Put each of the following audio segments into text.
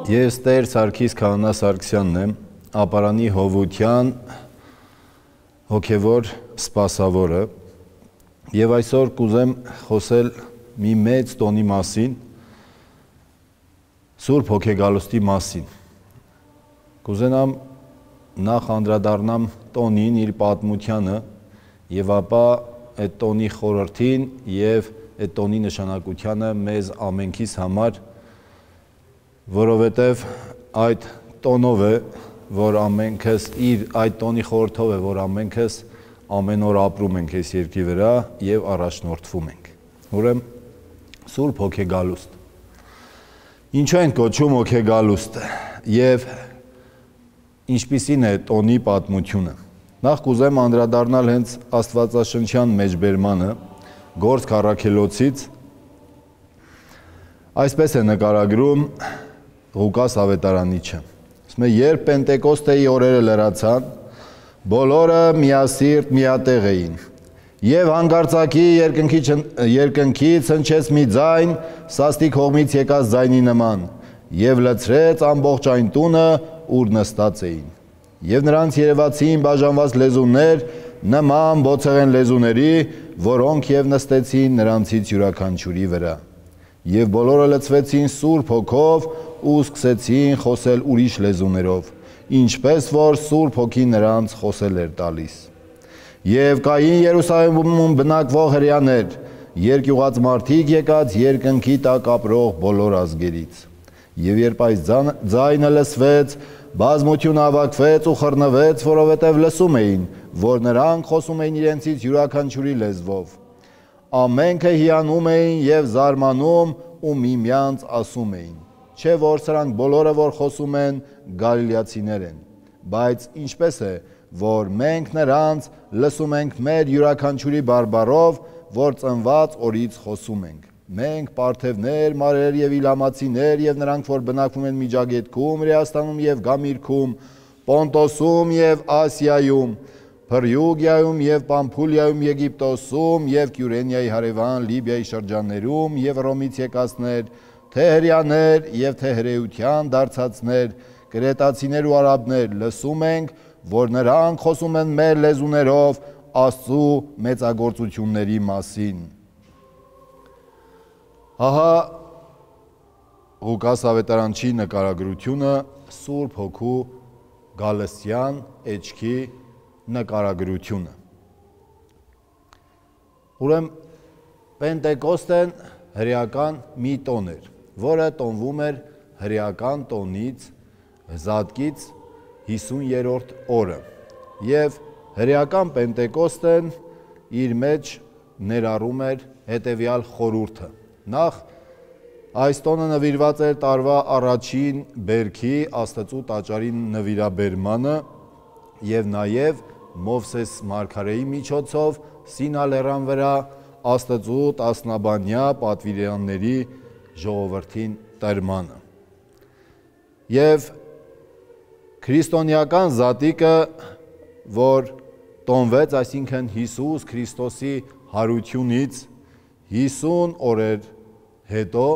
Ես Տեր Սարգիս Քահանա Սարգսյանն եմ, ապարանի Հովության հոգևոր սպասավորը եւ այսօր կուզեմ խոսել մի մեծ տոնի մասին, Սուրբ Հոգեգալուստի մասին։ Կուզենամ նախ անդրադառնամ տոնին, իր պատմությանը եւ ապա այդ տոնի խորհրդին եւ այդ տոնի նշանակությանը մեզ ամենքիս համար, որովհետև այդ տոնով է, որ ամենքս այդ տոնի խորհրդով է, որ ամենքս ամեն օր ապրում ենք այս երկրի վրա եւ առաջնորդվում ենք։ Ուրեմն Սուրբ Հոգեգալուստ։ Ինչու են կոչում հոգեգալուստը եւ ինչպիսին է տոնի պատմությունը։ Նախ կուզեմ անդրադառնալ հենց Աստվածաշնչյան մեջբերմանը Գործք առաքելոցից։ Այսպես է նկարագրում Ղուկաս ավետարանիչը։ Ասում է, երբ Պենտեկոստեի օրերը լրացան, բոլորը միասիրտ միատեղ էին, եւ հանկարծակի երկնքից հնչեց մի ձայն, սաստիկ հողմից եկած ձայնի նման, եւ լցրեց ամբողջ այն տունը, ուր նստած էին։ Եվ նրանց երևացին բաժանված լեզուներ, նման բոցեղեն լեզուների, որոնք եւ նստեցին նրանցից յուրաքանչյուրի վրա։ Եվ բոլորը լցվեցին Սուրբ Հոգով ու սկսեցին խոսել ուրիշ լեզուներով, ինչպես որ Սուրբ Հոգին նրանց խոսել էր տալիս։ Եվ կային Երուսաղեմում բնակվող հրեաներ, երկյուղած մարդիկ եկած երկնքի տակ ապրող բոլոր ազգերից։ Եվ երբ այս ձայնը լսվեց, բազմությունը հավաքվեց ու խռնվեց, որովհետև լսում էին, որ նրանք խոսում էին իրենցից յուրաքանչյուրի լեզվով։ Ամենքը հիանում էին եւ զարմանում ու միմյանց ասում էին. Չէ որ սրանք բոլորը որ խոսում են գալիլեացիներ են, բայց ինչպես է, որ մենք նրանց լսում ենք մեր յուրաքանչյուրի բարբառով, որ ծնված օրից խոսում ենք։ Մենք պարթևներ, մարեր եւ իլամացիներ եւ նրանք որ բնակվում են Միջագետքում, Հրեաստանում եւ Գամիրքում, Պոնտոսում եւ Ասիայում, Փրյուգիայում եւ Պամփուլիայում, Եգիպտոսում եւ Կյուրենիայի հարևան Լիբիայի շրջաններում եւ Ռոմից եկածներ, թե հրեաներ եւ թե հրեության դարձածներ, կրետացիներ ու արաբներ լսում ենք, որ նրանք խոսում են մեր լեզուներով Աստծու մեծագործությունների մասին։ Ահա Ղուկաս ավետարանչի նկարագրությունը Սուրբ Հոգու գալստյան էջքի նկարագրությունը։ Ուրեմն Պենտեկոստեն հրեական մի տոն էր, որը տոնվում էր հրեական տոնից Զատկից 50-րդ օրը։ Եվ հրեական Պենտեկոստեն իր մեջ ներառում էր հետևյալ խորհուրդը։ Նախ այս տոնը նվիրված էր տարվա առաջին բերքի Աստծու տաճարին նվիրաբերմանը եւ նաեւ Մովսես մարգարեի միջոցով Սինա լեռան վրա Աստծու տասնաբանյա պատվիրանների ժողովրդին տրմանը։ Եվ քրիստոնեական զատիկը, որ տոնվեց, այսինքն Հիսուս Քրիստոսի հարությունից 50 օրեր հետո,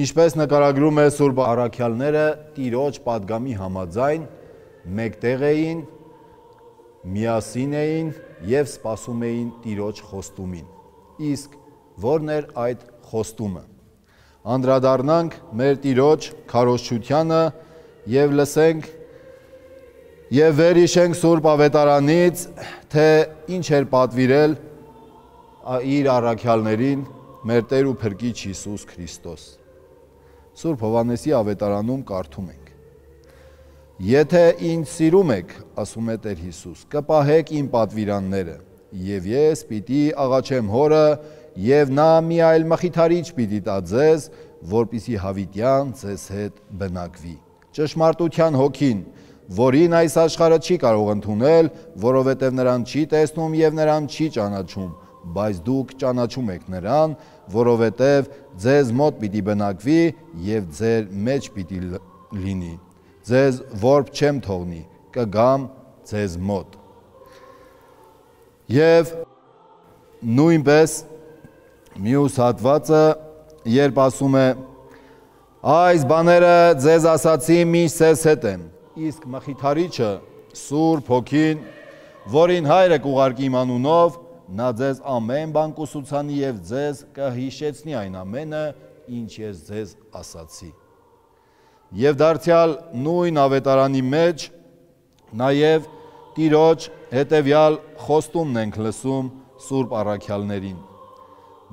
ինչպես նկարագրում է Սուրբ առաքյալները, Տիրոջ պատգամի համաձայն մեկտեղ էին, միասին էին եւ սպասում էին Տիրոջ խոստումին։ Իսկ ո՞րն էր այդ խոստումը։ Անդրադառնանք մեր Տիրոջ քարոզչությանը եւ լսենք եւ վերհիշենք Սուրբ ավետարանից, թե ինչ էր պատվիրել իր առաքյալներին մեր Տեր ու Փրկիչ Հիսուս Քրիստոս։ Սուրբ Հովհաննեսի ավետարանում կարդում ենք. Եթե ինձ սիրում եք, ասում է Տեր Հիսուս, կպահեք իմ պատվիրանները, եւ ես պիտի աղաչեմ Հորը, եւ նա մի այլ մխիթարիչ պիտի տա ձեզ, որպեսզի հավիտյան ձեզ հետ բնակվի։ Ճշմարտության Հոգին, որին այս աշխարհը չի կարող ընդունել, որովհետև նրան չի տեսնում եւ նրան չի ճանաչում, բայց դուք ճանաչում եք նրան, որովհետև ձեզ մոտ պիտի բնակվի եւ ձեր մեջ պիտի լինի։ Ձեզ որբ չեմ թողնի, կգամ ձեզ մոտ։ Եվ նույնպես մյուս հատվածը, երբ ասում է Այս բաները ձեզ ասացի միշտ ձեզ հետ եմ, իսկ մխիթարիչը Սուրբ Հոգին, որին Հայրը կուղարկի իմ անունով, նա ձեզ ամեն բան կուսուցանի եւ ձեզ կհիշեցնի այն ամենը, ինչ ես ձեզ ասացի։ Եվ դարձյալ նույն ավետարանի մեջ նաեւ Տիրոջ հետևյալ խոստումն ենք լսում Սուրբ առաքյալներին։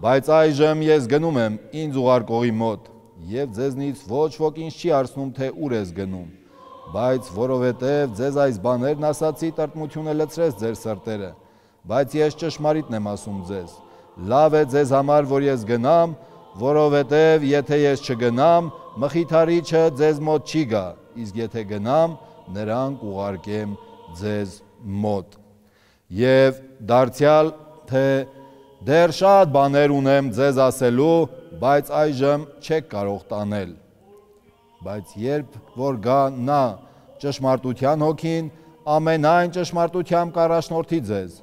Բայց այժմ ես գնում եմ ինձ ուղարկողի մոտ, եւ ձեզնից ոչ ոք ինձ չի հարցնում, թե ուր ես գնում, բայց որովհետև ձեզ այս բաներն ասացի, տրտմությունը լցրեց ձեր սրտերը, բայց ես ճշմարիտն եմ ասում ձեզ, լավ է ձեզ համար, որ ես գնամ, որովհետև եթե ես չգնամ, մխիթարիչը ձեզ մոտ չի գա, իսկ եթե գնամ, նրան կուղարկեմ ձեզ մոտ։ Եվ դարձյալ, թե դեռ շատ բաներ ունեմ ձեզ ասելու, բայց այժմ չեք կարող տանել։ Բայց երբ որ գա նա ճշմարտության հոգին, ամենայն ճշմարտությամբ կառաջնորդի ձեզ,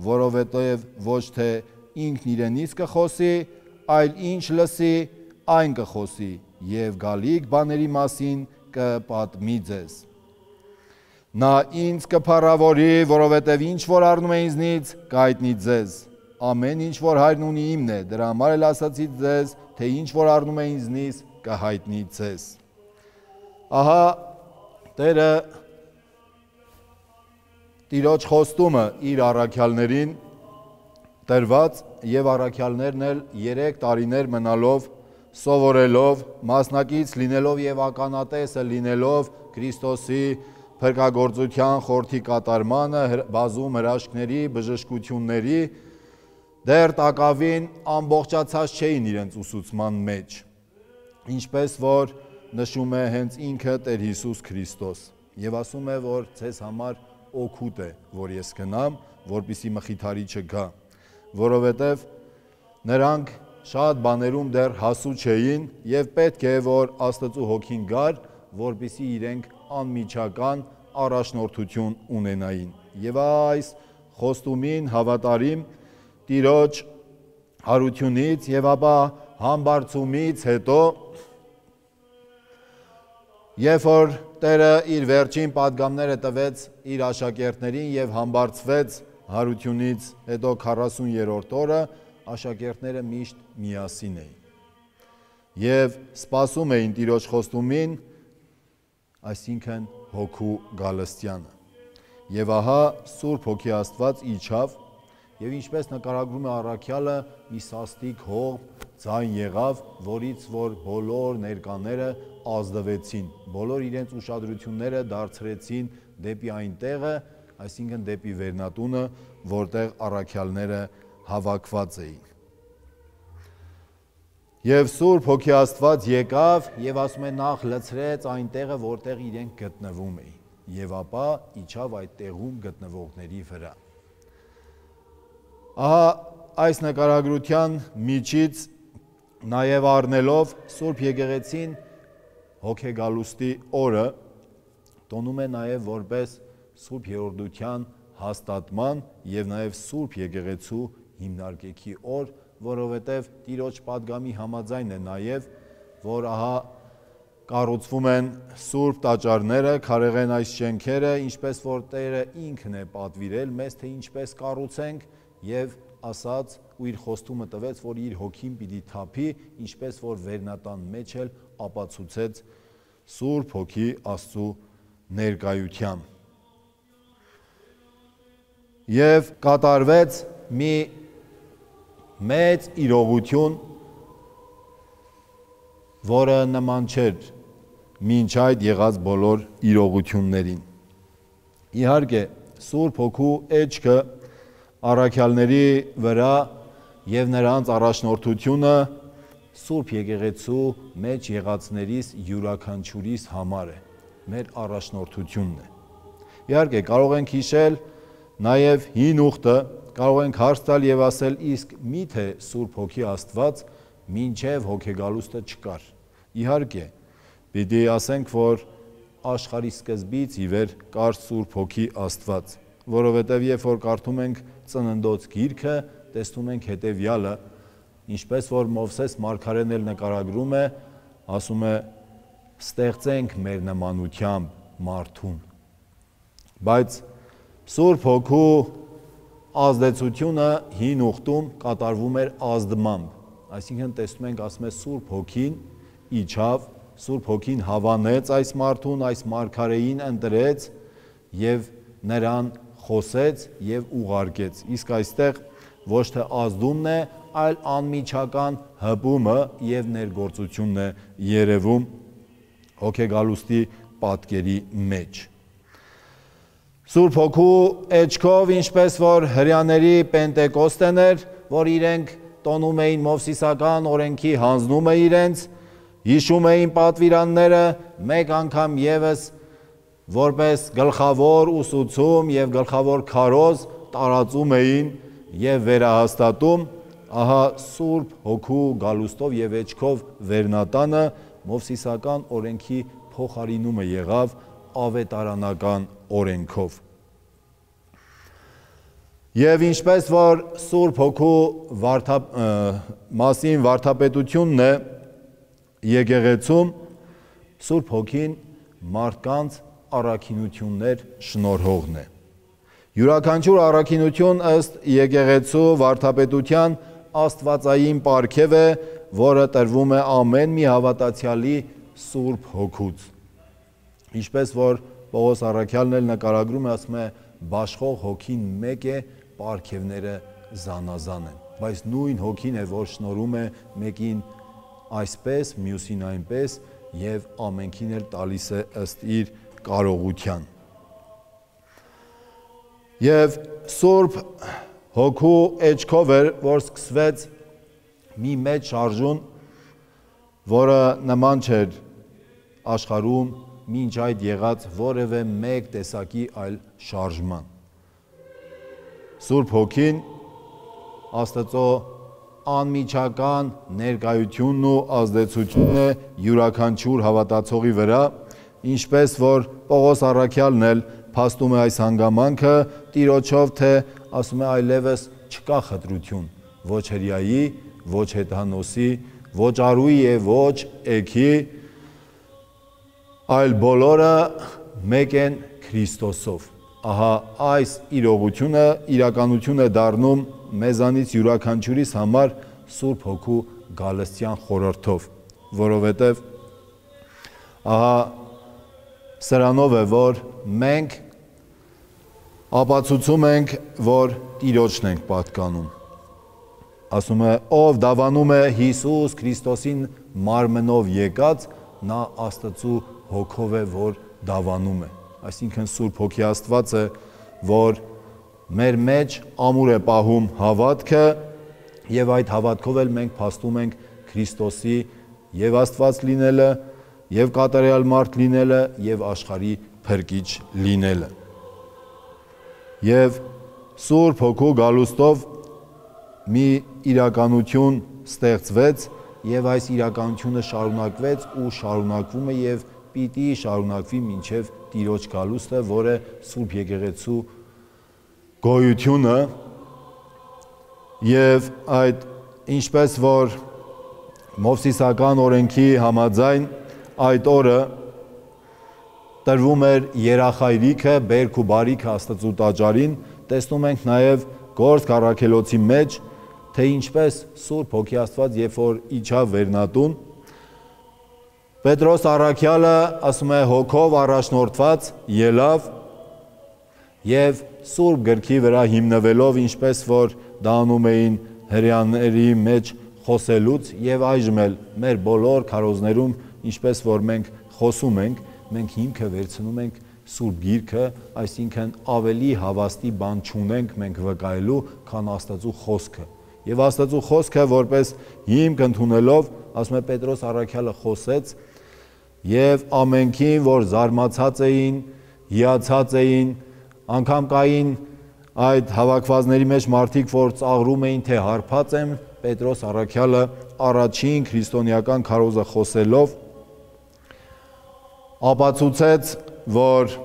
որովհետև ոչ թե ինքն իրենից կխոսի, այլ ինչ լսի, այն կխոսի եւ գալիք բաների մասին կպատմի ձեզ։ Նա ինձ կփառավորի, որովհետև ինչ որ առնում է ինձնից, կհայտնի ձեզ։ Ամեն ինչ որ Հայրն ունի իմն է, դրա համար էլ ասացի ձեզ, թե ինչ որ առնում է ինձնից, կհայտնի ձեզ։ Ահա Տերը Տիրոջ խոստումը իր առաքյալներին տրված եւ առաքյալներն էլ 3 տարիներ մնալով, սովորելով, մասնակից լինելով եւ ականատեսը լինելով Քրիստոսի փրկagorցության խորհրդի կատարմանը, բազում հրաշքների, բժշկությունների, դեռ տակավին ամբողջացած չէին իրենց ուսուցման մեջ, ինչպես որ նշում է հենց ինքը Տեր Հիսուս Քրիստոս եւ ասում է, որ ձեզ համար օգուտ է, որ ես գնամ, որպեսզի մխիթարիչը գա, որովհետեւ նրանք շատ բաներում դեռ հասու չէին եւ պետք է որ Աստծո հոգին գար, որպեսզի իրենք անմիջական առաջնորդություն ունենային։ Եվ այս խոստումին հավատարիմ Տիրոջ հարությունից եւ ապա համբարձումից հետո, երբ որ Տերը իր վերջին պատգամները տվեց իր աշակերտներին եւ համբարձվեց հարությունից հետո 40-րդ օրը, աշակերտները միշտ միասին էին եւ սպասում էին Տիրոջ խոստումին, այսինքն հոգու գալստյանը։ Եվ ահա Սուրբ Հոգի Աստված իջավ եւ ինչպես նկարագրում է առաքյալը, մի սաստիկ հող ձայն եղավ, որից որ բոլոր ներկաները ազդվեցին, բոլոր իրենց ուշադրությունները դարձրեցին դեպի այն տեղը, այսինքն դեպի վերնատունը, որտեղ առաքյալները հավաքված էին։ Եվ Սուրբ Հոգի Աստված եկավ եւ ասում է նախ լցրեց այն տեղը, որտեղ իրենք գտնվում էին, եւ ապա իջավ այդ տեղում գտնվողների վրա։ Ահա այս նկարագրության միջից նաև առնելով Սուրբ Եկեղեցին հոգեգալուստի օրը տոնում է նաև որպես Սուրբ Երորդության հաստատման եւ նաև Սուրբ Եկեղեցու հիմնարկեքի օր, որովհետև Տիրոջ պատգամի համաձայն է նաև, որ ահա կառուցվում են Սուրբ տաճարները, քարեղեն այս շենքերը, ինչպես որ Տերը ինքն է պատվիրել մեզ, թե ինչպես կառուցենք եւ ասաց ու իր խոստումը տվեց, որ իր հոգին պիտի թափի, ինչպես որ վերնատան մեջ էլ ապացուցեց Սուրբ Հոգի Աստծու ներկայությամբ։ Եվ կատարվեց մի մեծ իրողություն, որը նման չէր մինչ այդ եղած բոլոր իրողություններին։ Իհարկե, Սուրբ Հոգու էջքը առաքյալների վրա եւ նրանց առաջնորդությունը Սուրբ Եկեղեցու մեջ եղածներից յուրաքանչյուրիս համար է, մեր առաջնորդությունն է։ Իհարկե, կարող ենք հիշել նաև հին ուխտը, կարող ենք հարց տալ եւ ասել, իսկ միթե Սուրբ Հոգի Աստված մինչև հոգեգալուստը չկար։ Իհարկե, պիտի ասենք, որ աշխարհի սկզբից ի վեր կար Սուրբ Հոգի Աստված, որովհետև երբ որ կարդում ենք Ծննդոց գիրքը, տեսնում ենք հետևյալը, ինչպես որ Մովսես մարգարեն էլ նկարագրում է, ասում է ստեղծենք մեր նմանությամբ մարդուն։ Բայց Սուրբ Հոգու ազդեցությունը հին ուխտում կատարվում էր ազդմամբ, այսինքն տեսնում ենք, ասում է Սուրբ Հոգին իջավ, Սուրբ Հոգին հավանեց այս մարդուն, այս մարգարեին ընտրեց եւ նրան խոսեց եւ ուղարկեց։ Իսկ այստեղ ոչ թե ազդումն է, այլ անմիջական հպումը եւ ներգործությունն է երևում հոգեգալուստի պատկերի մեջ։ Սուրբ Հոգու էջքով, ինչպես որ հրյաների Պենտեկոստեն էր, որ իրենք տոնում էին Մովսիսական օրենքի հանձնումը իրենց, հիշում էին պատվիրանները, մեկ անգամ եւս որպես գլխավոր ուսուցում եւ գլխավոր քարոզ տարածում էին եւ վերահաստատում, ահա Սուրբ Հոգու գալուստով եւ էջքով վերնատանը Մովսիսական օրենքի փոխարինումը եղավ ավետարանական օրենքով։ Եվ ինչպես որ Սուրբ Հոգու մասին վարդապետությունն է եկեղեցում, Սուրբ Հոգին մարդկանց առաքինություններ շնորհողն է։ Յուրաքանչյուր առաքինություն ըստ եկեղեցու վարդապետության աստվածային պարգև է, որը տրվում է ամեն մի հավատացյալի Սուրբ Հոգուց։ Ինչպես որ Պողոս առաքյալն էլ նկարագրում է, ասում է, բաշխող Հոգին մեկ է, պարգևները զանազան են, բայց նույն Հոգին է, որ շնորհում է մեկին այսպես, մյուսին այնպես եւ ամենքին էլ տալիս է ըստ իր կարողության։ Եվ Սուրբ Հոգու էջքով էր, որ սկսվեց մի մեծ շարժուն, որը նման չէր աշխարհում մինչ այդ եղած որևէ մեկ տեսակի այլ շարժման։ Սուրբ Հոգին Աստծո անմիջական ներկայությունն ու ազդեցությունն է յուրաքանչյուր հավատացողի վրա, ինչպես որ Պողոս առաքյալն էլ փաստում է այս հանգամանքը Տիրոջով, թե ասում է այլևս չկա խտրություն, ոչ հրյայի, ոչ հեթանոսի, ոչ արուի եւ ոչ էքի, այլ բոլորը մեկ են Քրիստոսով։ Ահա այս իրողությունը իրականություն է դառնում մեզանից յուրաքանչյուրիս համար Սուրբ Հոգու գալստյան խորհրդով, որովհետև ահա սրանով է, որ մենք ապացուցում ենք, որ Տիրոջն ենք պատկանում։ Ասում է, ով դավանում է Հիսուս Քրիստոսին մարմնով եկած, նա Աստծու Հոգով է, որ դավանում է։ Այսինքն Սուրբ Հոգի Աստված է, որ մեր մեջ ամուր է պահում հավատքը եւ այդ հավատքով էլ մենք փաստում ենք Քրիստոսի եւ Աստված լինելը, եւ կատարյալ մարդ լինելը, եւ աշխարհի փրկիչ լինելը։ Եվ Սուրբ Հոգու գալուստով մի իրականություն ստեղծվեց եւ այս իրականությունը շարունակվեց ու շարունակվում է եւ պիտի շարունակվի մինչև Տիրոջ գալուստը, որը Սուրբ Եկեղեցու գոյությունը եւ այդ ինչպես որ Մովսիսական օրենքի համաձայն այդ օրը տրվում էր երախայրիքը, բերք ու բարիքը Աստծու տաճարին, տեսնում ենք նաեւ Գործք առաքելոցի մեջ, թե ինչպես Սուրբ Հոգի Աստված երբ որ իջավ վերնատուն, Պետրոս առաքյալը ասում է հոգով առաջնորդված ելավ եւ Սուրբ գրքի վրա հիմնվելով, ինչպես որ դա անում էին հրյաների մեջ խոսելուց եւ այժմ էլ մեր բոլոր քարոզներում, ինչպես որ մենք խոսում ենք, մենք հիմքը վերցնում ենք Սուրբ Գիրքը, այսինքն ավելի հավաստի բան չունենք մենք վկայելու, քան Աստծու խոսքը։ Եվ Աստծու խոսքը որպես հիմք ընդունելով, ասում է Պետրոս առաքյալը խոսեց եւ ամենքին, որ զարմացած էին, հիացած էին, անգամ կային այդ հավաքվածների մեջ մարդիկ, որ ծաղրում էին, թե հարբած են, Պետրոս առաքյալը առաջին քրիստոնեական քարոզը խոսելով ապացուցեց, որ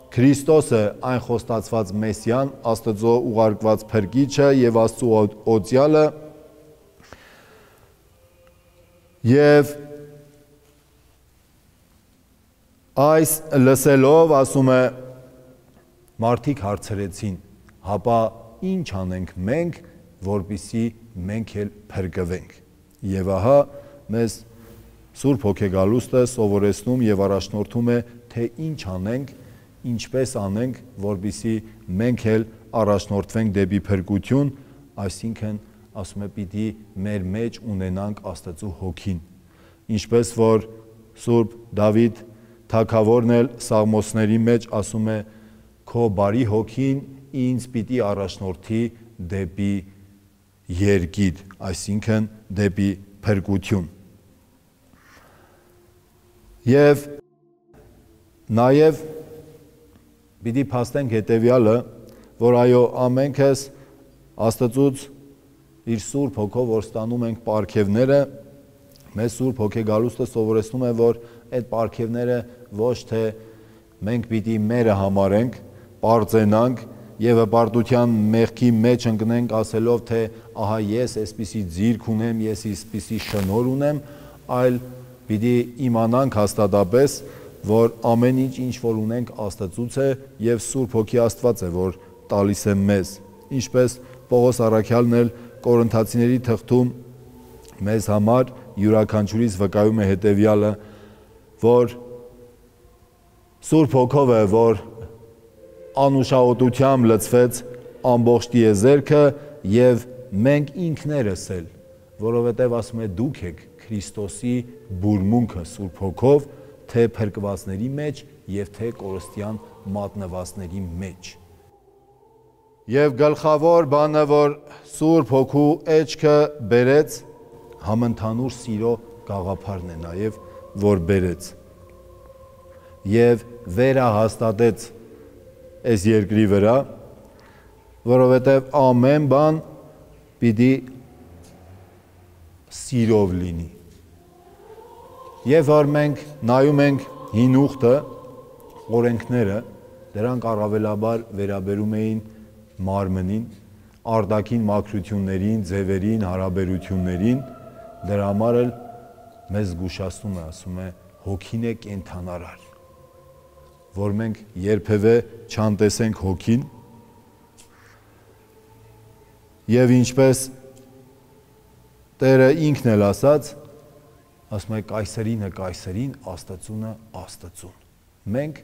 Քրիստոսը այն խոստացված Մեսիան, Աստծո ուղարկված փրկիչը եւ Աստծո օծյալը եւ Այս լսելով ասում է մարդիկ հարցրեցին, հապա ինչ անենք մենք, որպեսզի մենք էլ փրկվենք։ Եվ ահա մեզ Սուրբ Հոգեգալուստը սովորեցնում եւ առաջնորդում է, թե ինչ անենք, ինչպես անենք, որպեսզի մենք էլ առաջնորդվենք դեպի փրկություն, այսինքն ասում է պիտի մեր մեջ ունենանք Աստծո հոգին, ինչպես որ Սուրբ Դավիթ թագավորն էլ Սաղմոսների մեջ ասում է, քո բարի հոգին ինձ պիտի առաջնորդի դեպի երկիր, այսինքն դեպի փրկություն։ Եվ նաև պիտի փաստենք հետևյալը, որ այո, ամենքս Աստծուց իր Սուրբ Հոգով որ ստանում ենք պարգևները, մեզ Սուրբ Հոգեգալուստը սովորեցնում է, որ այդ պարգևները ոչ թե մենք պիտի մերը համարենք, պարծենանք եւ հպարտության մեղքի մեջ ընկնենք ասելով, թե ահա ես այսպիսի ձիրք ունեմ, ես այսպիսի շնորհ ունեմ, այլ պիտի իմանանք հաստատապես, որ ամեն ինչ որ ունենք Աստծուց է եւ Սուրբ Հոգի Աստված է, որ տալիս է մեզ։ Ինչպես Պողոս առաքյալն էլ Կորինթացիների թղթում մեզ համար յուրաքանչյուրից վկայում է հետևյալը, որ Սուրբ Հոգով է, որ անուշահոտությամբ լցվեց ամբողջ տիեզերքը եւ մենք ինքներս էլ, որովհետեւ ասում է դուք եք Քրիստոսի բուրմունքը Սուրբ Հոգով, թե փրկվածների մեջ եւ թե կորստյան մատնվածների մեջ։ Եվ գլխավոր բանը, որ Սուրբ Հոգու էջքը բերեց, համընդհանուր սիրո գաղափարն է նաեւ, որ բերեց եւ վերահաստատեց այս երկրի վրա, որովհետեւ ամեն բան պիտի սիրով լինի։ Եվ որ մենք նայում ենք հին ուխտը, օրենքները, դրանք առավելաբար վերաբերում էին մարմնին, արտաքին մաքրություններին, ձևերին, հարաբերություններին, դրա համար էլ մեզ զգուշացնում է, ասում է, հոգին է կենդանարար, որ մենք երբևէ չանտեսենք հոգին եւ ինչպես Տերը ինքն էլ ասաց, ասում է կայսերինը կայսերին, Աստծունը Աստծուն։ Մենք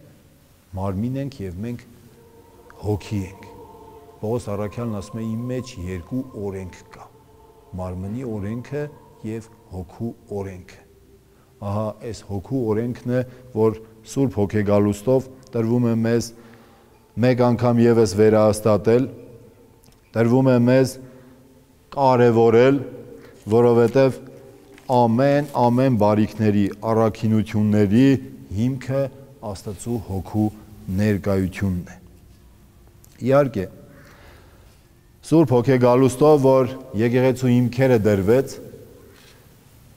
մարմին ենք եւ մենք հոգի ենք։ Պողոս առաքյալն ասում է իմ մեջ երկու օրենք կա։ Մարմնի օրենքը եւ հոգու օրենքը։ Ահա այս հոգու օրենքն է, որ Սուրբ Հոգեգալուստով տրվում է մեզ մեկ անգամ եւս վերահաստատել, տրվում է մեզ կարևորել, որովհետեւ ամեն բարիքների, առաքինությունների հիմքը Աստծո հոգու ներկայությունն է։ Իհարկե, Սուրբ Հոգեգալուստով, որ եկեղեցու հիմքերը դրվեց,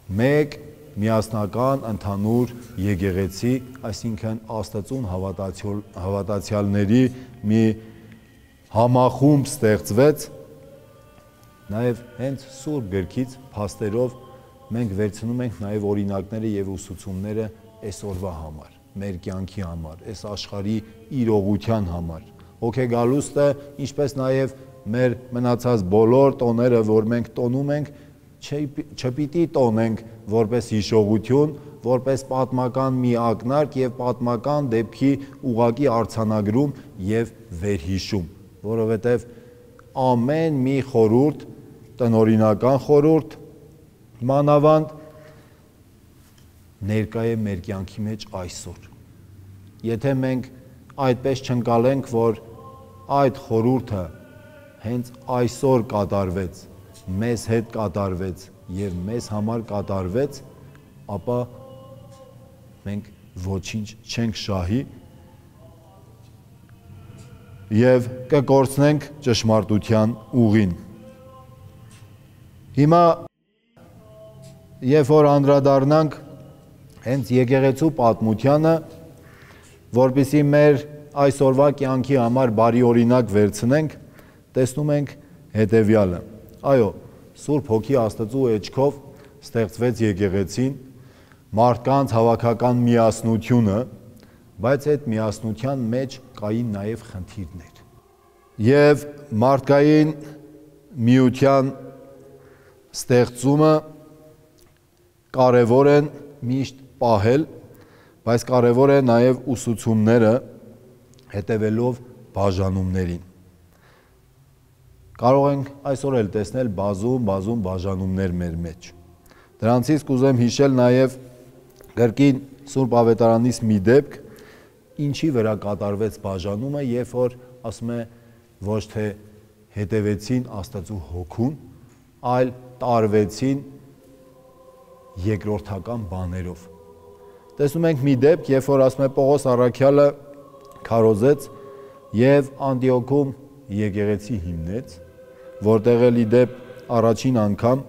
մեկ միասնական ընդհանուր եկեղեցի, այսինքն Աստծուն հավատացյալների մի համախումբ ստեղծվեց, նաև հենց Սուրբ գրքից փաստերով մենք վերցնում ենք նաև օրինակները եւ ուսուցումները այսօրվա համար, մեր կյանքի համար, այս աշխարհի իրողության համար։ Հոգեգալուստը, ինչպես նաև մեր մնացած բոլոր տոները, որ մենք տոնում ենք, չպիտի տոնենք որպես հիշողություն, որպես պատմական մի ակնարկ եւ պատմական դեպքի ուղակի արձանագրում եւ վերհիշում, որովհետեւ ամեն մի խորհուրդ, տնօրինական խորհուրդ, մանավանդ ներկա է մեր կյանքի մեջ այսօր։ Եթե մենք այդպես չընկալենք, որ այդ խորհուրդը հենց այսօր կատարվեց, մեզ հետ կատարվեց եւ մեզ համար կատարվեց, ապա մենք ոչինչ չենք շահի եւ կկորցնենք ճշմարտության ուղին։ Հիմա երբ որ անդրադառնանք հենց եկեղեցու պատմությանը, որպեսզի մեր այսօրվա կյանքի համար բարի օրինակ վերցնենք, տեսնում ենք հետևյալը։ Այո, Սուրբ Հոգի Աստծո էջքով ստեղծվեց եկեղեցին, մարդկանց հավաքական միասնությունը, բայց այդ միասնության մեջ կային նաև խնդիրներ։ Եվ մարդկային միության ստեղծումը կարևոր են միշտ պահել, բայց կարևոր է նաև ուսուցումները հետևելով բաժանումներին։ Կարող ենք այսօր էլ տեսնել բազում բաժանումներ մեր մեջ։ Դրանցից կուզեմ հիշել նաև կրկին Սուրբ Ավետարանից մի դեպք, ինչի վրա կատարվեց բաժանումը, երբ որ ասում է ոչ թե հետևեցին Աստծու հոգուն, այլ տարվեցին երկրորդական բաներով։ Տեսնում ենք մի դեպք, երբ որ ասում է Պողոս առաքյալը քարոզեց եւ Անդիոքում եկեղեցի հիմնեց, որտեղ էլ ի դեպ առաջին անգամ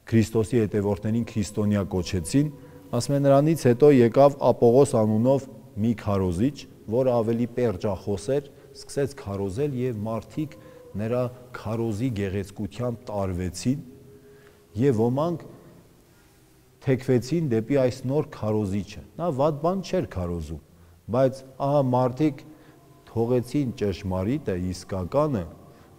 Քրիստոսի հետևորդներին քրիստոնյա կոչեցին, ասում է նրանից հետո եկավ Ապողոս անունով մի քարոզիչ, որը ավելի պերճախոս էր, սկսեց քարոզել եւ մարդիկ նրա քարոզի գեղեցկությամբ տարվեցին եւ ոմանք թեքվեցին դեպի այս նոր քարոզիչը։ Նա վատ բան չէր քարոզում, բայց ահա մարդիկ թողեցին ճշմարիտը, իսկականը,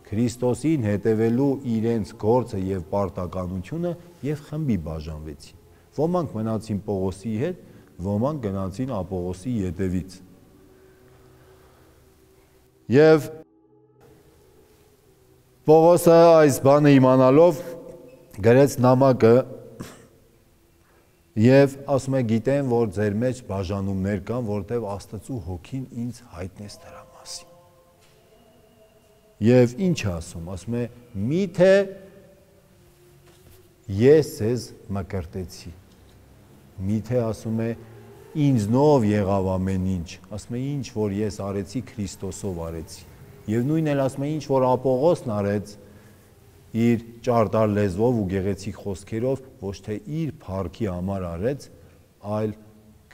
Քրիստոսին հետևելու իրենց գործը եւ պարտականությունը եւ խմբի բաժանվեցին։ Ոմանք մնացին Պողոսի հետ, ոմանք գնացին Ապողոսի ետևից։ Եվ Պողոսը այս բանը իմանալով գրեց նամակը եւ ասում է գիտեմ, որ ձեր մեջ բաժանումներ կան, որտեղ Աստծու հոգին ինձ հայտնեց դրա մասին։ Եվ ինչ ասում է, միթե ես ձեզ մկրտեցի, միթե ասում է ինձնով եղավ ամեն ինչ, ասում է ինչ որ ես արեցի Քրիստոսով արեցի, եւ նույնն էլ ասում է ինչ որ Ապողոսն արեց իր ճարտար լեզվով ու գեղեցիկ խոսքերով, ոչ թե իր փառքի համար արեց, այլ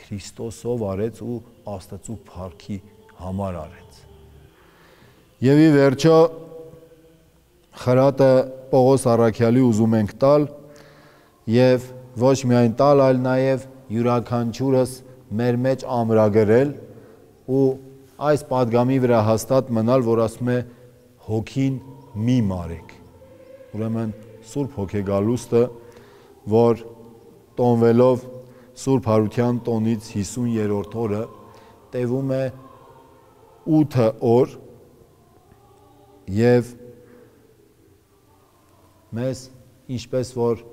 Քրիստոսով արեց ու Աստծու փառքի համար արեց։ Եվ ի վերջո խրատը Պողոս առաքյալի ուզում ենք տալ եւ ոչ միայն տալ, այլ նաեւ յուրաքանչյուրս մեր մեջ ամրագրել ու այս պատգամի վրա հաստատ մնալ, որ ասում է հոգին մի մարեք։ Ուրեմն Սուրբ Հոգեգալուստը, որ տոնվելով Սուրբ Հարության տոնից 50-րդ օրը տևում է 8 օր եւ մեզ ինչպես որ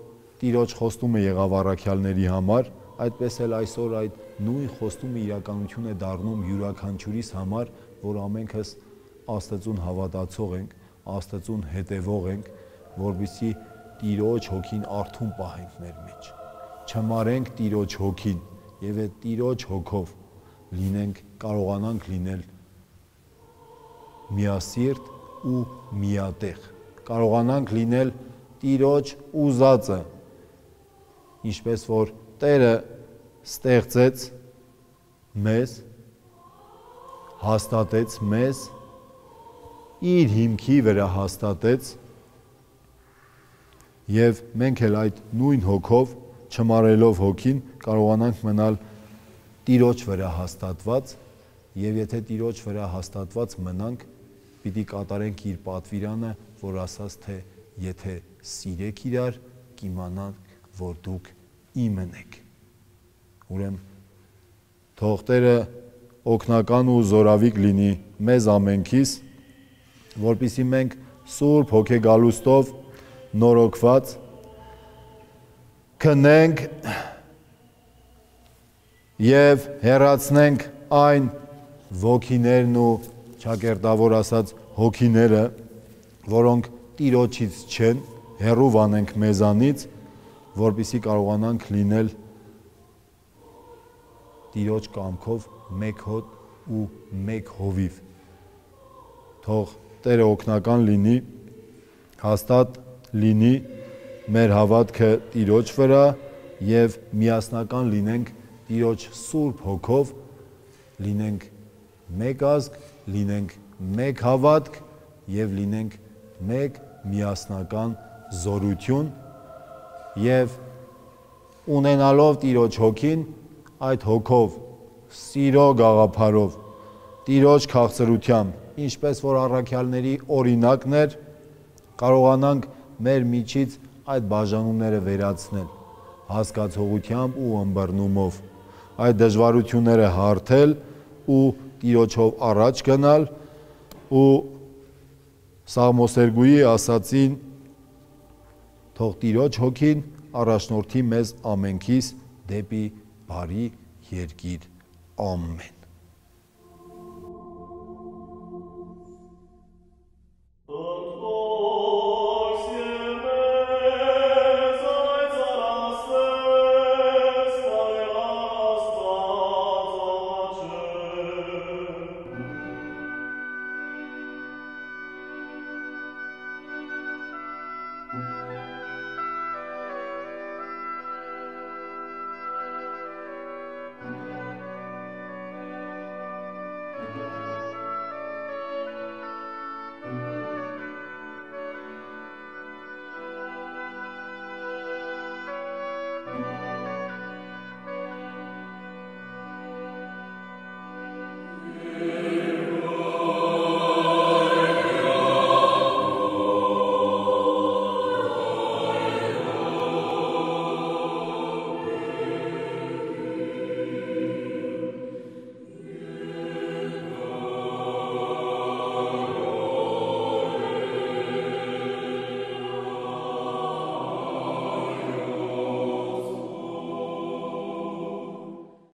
Տիրոջ խոստումը եղավ առաքյալների համար, այդպես էլ այսօր այդ նույն խոստումը իրականություն է դառնում յուրաքանչյուրիս համար, որ ամենքս Աստծուն հավատացող ենք, Աստծուն հետևող ենք, որպեսզի Տիրոջ հոգին արթուն պահենք մեր մեջ, չմարենք Տիրոջ հոգին եւ այդ Տիրոջ հոգով լինենք, կարողանանք լինել միասիրտ ու միատեղ, կարողանանք լինել Տիրոջ ուզածը, ինչպես որ Տերը ստեղծեց մեզ, հաստատեց մեզ, իր հիմքի վրա հաստատեց եւ մենք էլ այդ նույն հոգով, չմարելով հոգին, կարողանանք մնալ Տիրոջ վրա հաստատված եւ եթե Տիրոջ վրա հաստատված մնանք, պիտի կատարենք իր պատվիրանը, որ ասաց թե եթե սիրեք իրար, կիմանաք, որ դուք իմն եք։ Ուրեմն թող Տերը օգնական ու զորավիկ լինի մեզ ամենքիս, որպեսզի մենք Սուրբ Հոգեգալուստով նորոգված քնենք եւ հեռացնենք այն ոգիներն ու ճակերտավոր ասած հոգիները, որոնք Տիրոջից չեն, հեռու վանենք մեզանից, որպեսզի կարողանանք լինել Տիրոջ կամքով մեկ հոտ ու մեկ հովիվ։ Թող Տերը օգնական լինի, հաստատ լինի մեր հավատքը Տիրոջ վրա եւ միասնական լինենք Տիրոջ Սուրբ Հոգով, լինենք մեկ ազգ, լինենք մեկ հավատք եւ լինենք մեկ միասնական զորություն եւ ունենալով Տիրոջ հոգին, այդ հոգով սիրո գաղափարով, Տիրոջ քաղցրությամբ, ինչպես որ առաքյալների օրինակն էր, կարողանանք մեր միջից այդ բաժանումները վերացնել, հասկացողությամբ ու ըմբռնումով, այդ դժվարությունները հարթել ու Տիրոջով առաջ գնալ ու Սաղմոսերգուի ասացին թող Տիրոջ հոգին առաջնորդի մեզ ամենքիս դեպի բարի երկիր, ամեն։